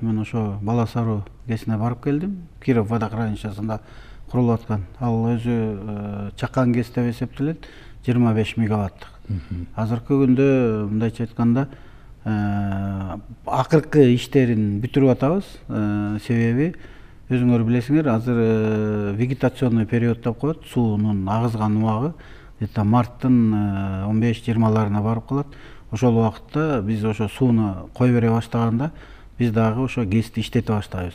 мен ошо Бала Саруу ГЭСине барып келдим. Киров водохранилищесинде курулуп аткан. Ал өзү чакан ГЭС деп эсептелет, 25 мегаваттык. Азыркы күндө мындайча айтканда акыркы иштерин бүтүрүп атабыз. Себеби өзүңөр билесиңер, азыр вегетационный период деп коет, суунун агызган убагы где-то марттын 15-20 барып калат. Ошол убакытта биз ошо сууну кое бере баштаганда биз дагы ошо ГЭСти иштете баштайбыз.